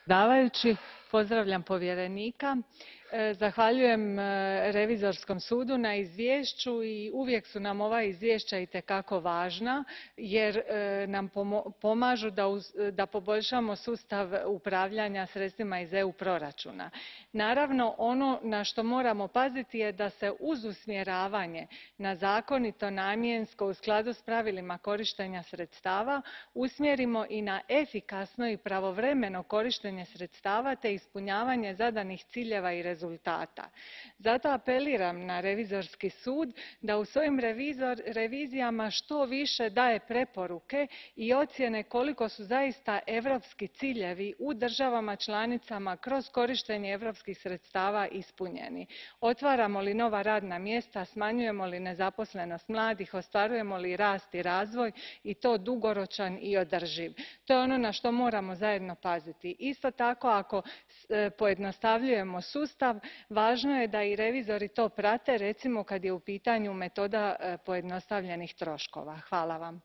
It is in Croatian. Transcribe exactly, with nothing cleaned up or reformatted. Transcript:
Predsjedavajući, pozdravljam povjerenika. Zahvaljujem Revizorskom sudu na izvješću i uvijek su nam ova izvješća itekako važna jer nam pomažu da poboljšamo sustav upravljanja sredstvima iz E U proračuna. Naravno, ono na što moramo paziti je da se uz usmjeravanje na zakonito, namjensko, u skladu s pravilima korištenja sredstava, usmjerimo i na efikasno i pravovremeno korištenje sredstava te ispunjavanje zadanih ciljeva i rezultata. Zato apeliram na Revizorski sud da u svojim revizijama što više daje preporuke i ocjene koliko su zaista europski ciljevi u državama članicama kroz korištenje europskih sredstava ispunjeni. Otvaramo li nova radna mjesta, smanjujemo li nezaposlenost mladih, ostvarujemo li rast i razvoj i to dugoročan i održiv. To je ono na što moramo zajedno paziti. Isto tako, ako pojednostavljujemo sustav, važno je da i revizori to prate, recimo kad je u pitanju metoda pojednostavljenih troškova. Hvala vam.